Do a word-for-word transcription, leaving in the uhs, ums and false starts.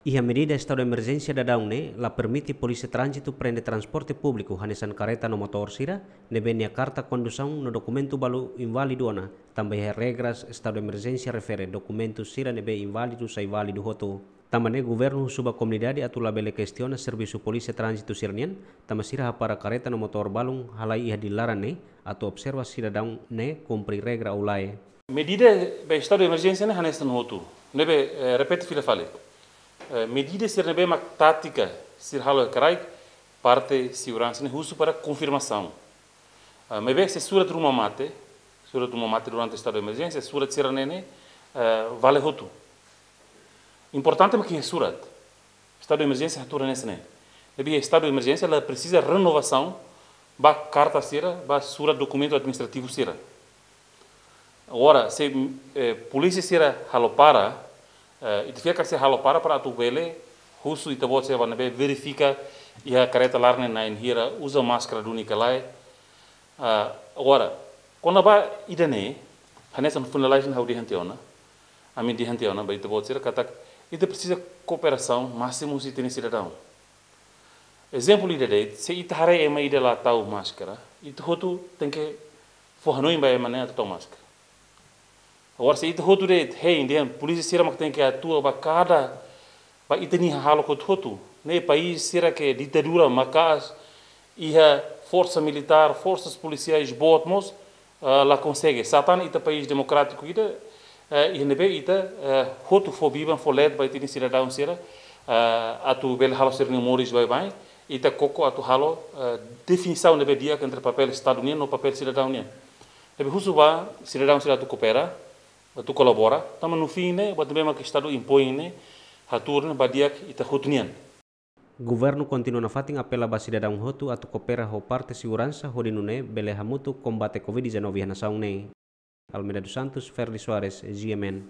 Iha medida estadu emerjénsia daudaun ne'e la permite polísia tránzitu prende transporte públiku hanesan kareta no motór sira ne'ebé nia karta kondusaun no dokumentu balu inválidu ona, tanba iha regras estadu emerjénsia refere dokumentu sira ne'ebé inválidu sai válidu hotu. Tanba ne'e governu husu ba komunidade atu labele kestiona servisu polísia tránzitu sira-nian, tanba sira hapara kareta no motór balun halai iha di'ak laran ne'e, atu observa sidadaun ne'e kumpre regra ou lae. Medida ba estadu emerjénsia ne'e hanesan hotu. Ne'ebé, eh, repete fila fali. Eh, medida sira ne'ebé mak tátika sira halo iha kraik, parte seguransa ne'e husu para konfirmasaun. Ah, maibé se surat ruma mate, surat ruma mate durante estadu emerjénsia, surat sira-ne'e ne'e, eh, vale hotu. Importante mak iha surat. Estadu emerjénsia hatuur hanesan ne'e. Ne'ebé estadu emerjénsia la presiza renovasaun ba karta sira, ba surat dokumentu administrativu sira. Agora, se, eh, polísia sira halo para, eh, ita fiar katak sira halo para para atu bele husu ita-boot sira ba ne'ebé verifika iha kareta laran ne'e na'in hira, uza máskara duni ka lae. Ah, agora, kona-ba ida-ne'e, hanesan finalize ha'u dehan tiha ona, ami dehan tiha ona ba ita-boot sira katak ita presiza kooperasaun másimu husi ita-nia sidadaun. Ezemplu ida de'it, se ita haree ema ida la tau máskara, ita hotu tenke fó hanoin ba ema ne'e atu tau máskara. Agora se ita hotu de'it hein dehan polísia sira mak tenke atua ba kada, ba ita-nia hahalok hotu-hotu. Ne'e país sira ke ditadura maka'as iha forsa militár, forsas polisiais boot mós, ah, la konsege. Satán ita país demokrátiku ida, eh, iha ne'ebé ita, eh, hotu fó biban, fó leet ba ita-nia sidadaun sira, eh, atu bele halo sira-nia moris baibain, ita koko atu halo, eh, definisaun ne'ebé di'ak entre papél estadu nian no papél sidadaun nian. Ne'ebé husu ba sidadaun sira atu koopera, atu kolabora, tanba no fin ne'e, buat ne'ebé mak estadu impoin ne'e, hatuur ne'e ba di'ak ita hotu nian. Governu kontinua nafatin apela ba sidadaun hotu atu koopera ho parte seguransa hodi nune'e bele hamutuk kombate covid dezanove iha nasaun ne'e. Almeida dos Santos, Ferdi Soares, G M N.